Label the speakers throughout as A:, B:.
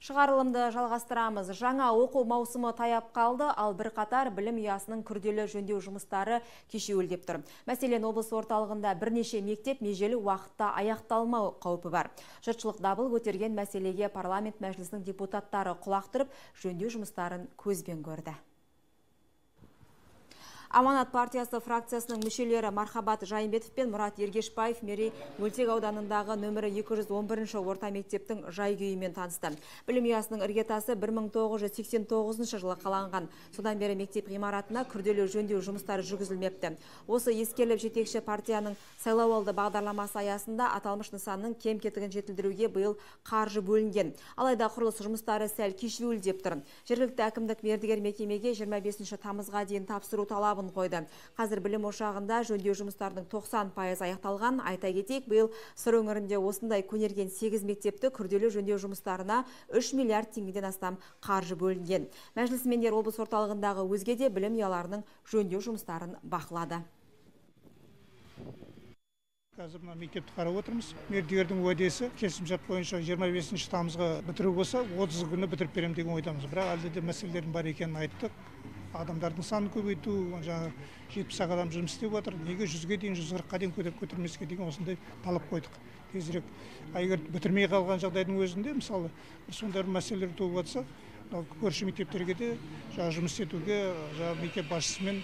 A: Шығарылымды жалғастырамыз. Жаңа оқу маусымы таяп қалды, ал бірқатар білім ұясының күрделі жөндеу жұмыстары кешеуілдеп тұр. Мәселен, облыс орталығында бірнеше мектеп межелі уақытта аяқталмау қаупі бар. Жұртшылық дабыл көтерген мәселеге парламент мәжілісінің депутаттары құлақ түріп, жөндеу жұмыстарын көзбен көрді. Аманат партиясы фракциясының мүшелері Мархабат Жайымбетов пен Мұрат Ергешбаев Мерей мөлтек ауданындағы нөмірі 211 орта мектептің жай-күйімен танысты. Білім ұясының іргетасы 1989 жылы қаланған. Содан бері мектеп ғимаратына күрделі жөндеу жұмыстары жүргізілмепті. Осы ескеріліп жетекші партияның сайлауалды бағдарламасы аясында аталмыш нысанның кем-кетігін жетілдіруге биыл қаржы бөлінген. Алайда құрылыс жұмыстары сәл кешеуілдеп тұр. Жергілікті әкімдік мердігер мекемеге 25 тамызға дейін тапсыру талабын қойды. Қазір білім ошағында жөндеу жұмыстарының 90% аяқталған. Айта кетейік, биыл Сыр өңірінде осындай көнерген 8 мектепті күрделі жөндеу жұмыстарына 3 миллиард теңгеден астам қаржы бөлінген. Мәжілісмендер облыс орталығындағы өзге де білім ұяларының жөндеу жұмыстарын бақылады.
B: Қазір мына мектепті қарап отырмыз. Мердігердің уәдесі келісімшарт бойынша 25 тамызға бітіру болса, 30 күні бітіріп беремін деген ойдамыз. Бірақ әлде де мәселелердің бар екенін айттық. Адамдардың санын көбейту, жаңа 70 адам жұмыс істеп жатыр. Неге 100-ге дейін, 140-қа дейін көтермеске деген осындай талап қойдық. Тезірек, егер бітірмей қалған жағдайдың өзінде, мысалы, сондай мәселелер туып жатса, көрші мектептерге де жұмыс етуге, мектеп басшысымен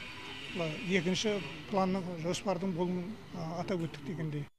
B: екінші планның жоспардың болуын атап өттік дегендей.